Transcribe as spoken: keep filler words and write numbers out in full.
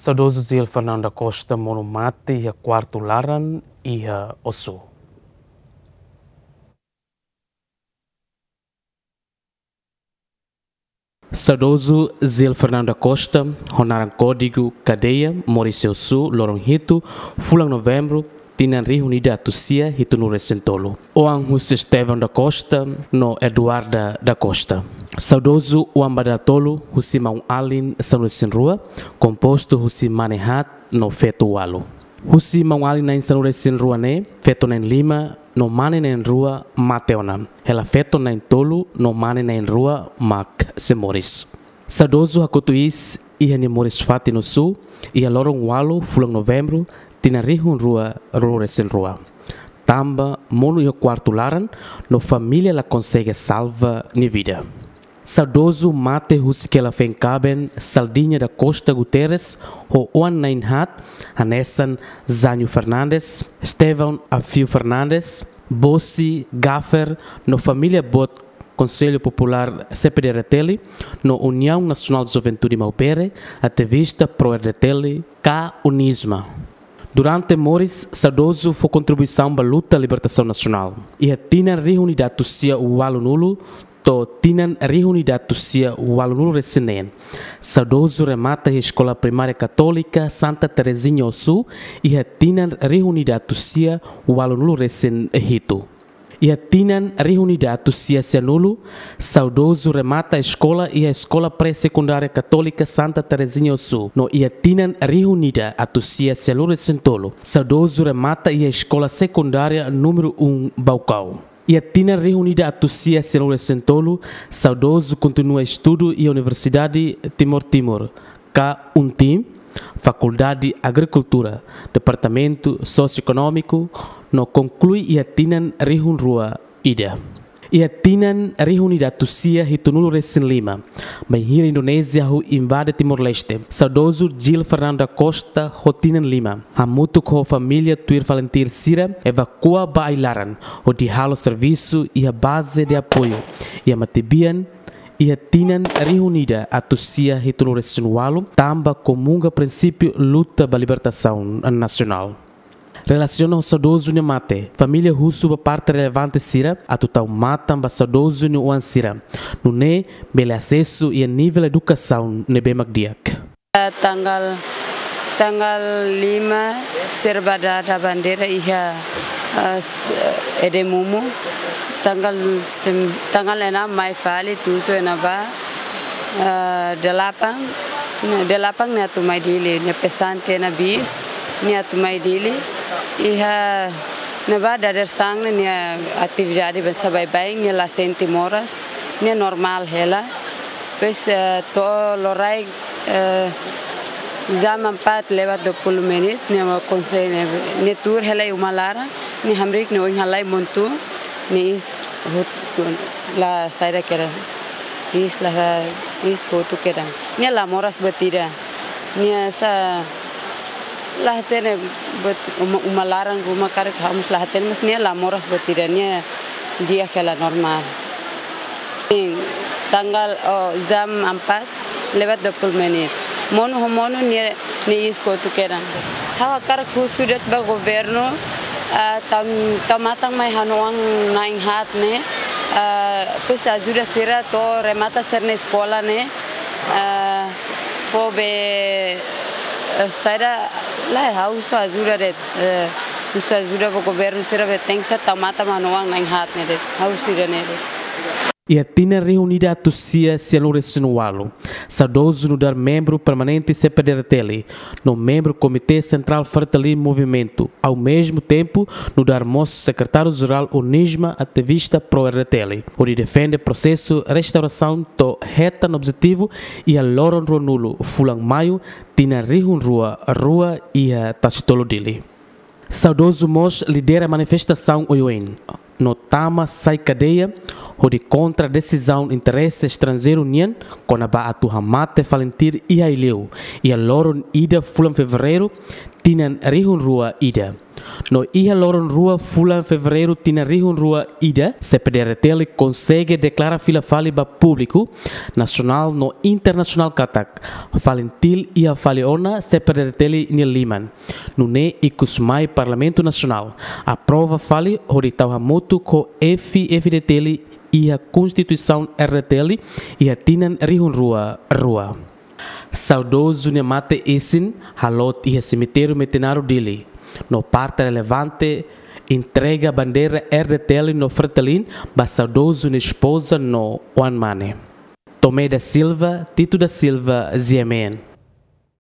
Saudozu Gil Fernando da Costa monu mate iha kuartu laran iha Ossu. Saudozu Gil Fernando da Costa, ho naran kódigu kadeia, moris iha Ossu, loron hitu, fulan Novembru, tinan rihun ida atus sia hitunulu resin tolu. Oan husi Estevão da Costa no Eduarda da Costa. Saudozu oan ba dala tolu husi maun-alin sanulu resin rua, kompostu husi mane haat no feto walu. Husi maun-alin na'in sanulu resin rua ne'e, feto na'in lima no mane na'in rua mate ona. Hela feto na'in tolu no mane na'in rua mak sei moris. Saudozu hakotu iis iha nia moris-fatin Ossu, iha loron walu fulan Novembru, tinan rihun rua ruanulu resin rua. Tanba monu iha kuartu laran, no família la konsege salva nia vida. Saudozu mate husik hela feen-kaben Saldinha da Costa Guterres, ho oan na'in haat, hanesan Zanho Fernandes, Estevão Afio Fernandes, Bosi, Gaffer, no família boot Conselho Popular C P D R T L, no União Nacional de Juventude Maubere, ativista pró-R D T L, ka UNIJMA. Durante moris, saudozu fó kontribuisaun ba luta libertasaun nasionál. Iha tinan rihun ida atus sia ualunulu to'o tinan rihun ida atus sia ualunulu resin neen, saudozu remata iha Eskola Primária Katólika Santa Terezinha Ossu, iha tinan rihun ida atus sia ualunulu resin hitu. Iha tinan rihun ida atus sia sianulu, saudozu remata eskola iha Eskola Pré-Sekundária Katólika Santa Terezinha Ossu, no iha tinan rihun ida atus sia sianulu resin tolu, saudozu remata iha Eskola Sekundária númeru um Baucau. Iha tinan rihun ida atus sia sianulu resin tolu, saudozu kontinua estudu iha Universidade Timor Timur, ka UNTIM, Fakuldade Agrikultura, Departamentu Sosioekonómiku, no konklui iha tinan rihun rua ida. Iha tinan rihun ida atus sia hitunulu resin lima, bainhira Indonézia hahú invade Timor-Leste, saudozu Gil Fernando da Costa ho tinan lima, hamutuk ho família tuir FALINTIL sira evakua ba ai-laran, hodi halo servisu iha Base de Apoio iha Matebian, iha tinan rihun ida atus sia hitunulu resin ualu, tanba komunga prinsípiu luta ba libertasaun nasionál. Relasiona ho saudozu nia mate, família husu ba parte relevante sira atu tau matan ba saudozu nia oan sira, nune'e bele asesu iha nivel edukasaun ne'ebé mak di'ak. Tanggal, tanggal lima sira ba dada bandeira iha, eh, s-, Edemumu. Tanggal sem-, tanggal enam mai fali tujuh nia ba, eh, delapan, nia delapan nia atu mai Dili, nia pesan tiha ona bis, nia atu mai Dili. Iha ne'ebá dadeer-saan ne'e nia atividade baibain, nia la sente moras, nia normál hela. Depois, eh, to'o loraik, eh, jam empat lewat dua puluh menit, nia mai konsege, nia tuur hela iha uma laran, nia hamriik nia oin halai montun, nia iis hotu, la saida kedan. Iis la, iis kotu kedan. Nia la moras buat ida. Nia sá la hatene buat uma, uma laran, ruma karik ha'u mós la hatene, mas nia la moras buat ida, nia di'ak hela normál. Sim, tanggal, oh, jam empat lewat dua puluh menit. Monu ho monu nia, nia iis kotu kedan. Ha'u hakarak husu de'it ba governu, ah, tau, tau matan mai ha'u-nia oan na'in haat ne'e, ah, depois ajuda sira to'o remata sira-nia eskola ne'e, ah, fó be, eh, saida, lae, ha'u husu ajuda de'it, eh, husu ajuda ba governu sira be tenke ser tau matan mai ha'u-nia oan na'in haat ne'e de'it, ha'u husu ida-ne'e de'it. Iha tinan rihun ida atus sia sianulu resin ualu, saudozu nu'udar membru permanente C P D R T L, no membru Komité Sentrál Fretilin Movimentu, ao mesmo tempo nu'udar mós sekretáriu-jerál UNIJMA, ativista pró-R D T L, hodi defende prosesu restaurasaun to'o hetan objetivu iha loron ruanulu fulan Maiu, tinan rihun rua rua iha Tasitolu, Dili. Saudozu mós lidera manifestasaun oioin, no tama sai kadeia, hodi kontra desizaun interese estranjeiru nian, kona-ba atu hamate FALINTIL iha Aileu, iha loron ida fulan Fevereiru, tinan rihun rua ida. No iha loron rua fulan Fevereiru tinan rihun rua ida, C P D R D T L konsege deklara fila fali ba públiku nasionál no internasionál katak FALINTIL iha fali ona C P D R D T L nia liman. Nune'e ikus mai Parlamentu Nasionál aprova fali hodi tau hamutuk ho F-FDTL iha Konstituisaun R D T L iha tinan rihun rua rua. Saudozu nia mate-isin halot iha semitériu Metinaro Dili, no parte relevante entrega bandeira R D T L no FRETILIN ba saudozu nia espoza no oan-mane. Tomé da Silva, Tito da Silva, G M N.